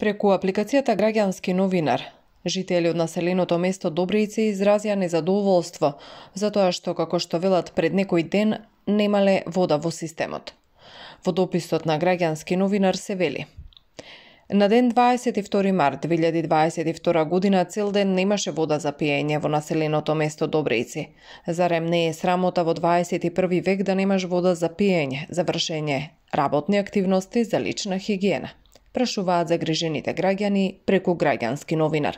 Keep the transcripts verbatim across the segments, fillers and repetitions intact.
Преку апликацијата Граѓански новинар, жители од населеното место Добријци изразија незадоволство затоа што, како што велат, пред некој ден немале вода во системот. Во дописот на Граѓански новинар се вели: на ден дваесет и втори март две илјади дваесет и втора година цел ден немаше вода за пиење во населеното место Добријци. Зарем не е срамота во дваесет и први век да немаш вода за пиење, за вршење работни активности, за лична хигиена? Прашуваат загрижените граѓани преку Граѓански новинар.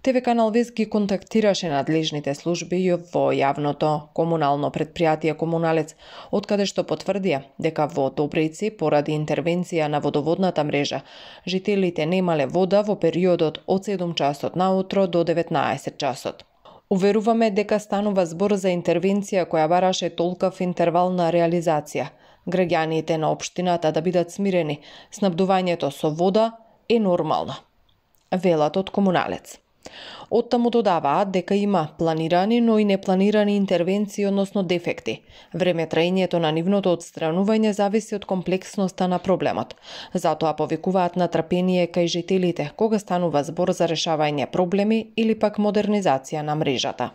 ТВ канал Вест ги контактираше надлежните служби во јавното комунално предпријатие Комуналец, откаде што потврдија дека во Добријци, поради интервенција на водоводната мрежа, жителите немале вода во периодот од седум часот наутро до деветнаесет часот. Уверуваме дека станува збор за интервенција која бараше толкав интервал на реализација. Граѓаните на општината да бидат смирени, снабдувањето со вода е нормално, велат од Комуналец. Оттаму додаваат дека има планирани, но и непланирани интервенции, односно дефекти. Време траењето на нивното отстранување зависи од комплексноста на проблемот. Затоа повикуваат на трпение кај жителите кога станува збор за решавање проблеми или пак модернизација на мрежата.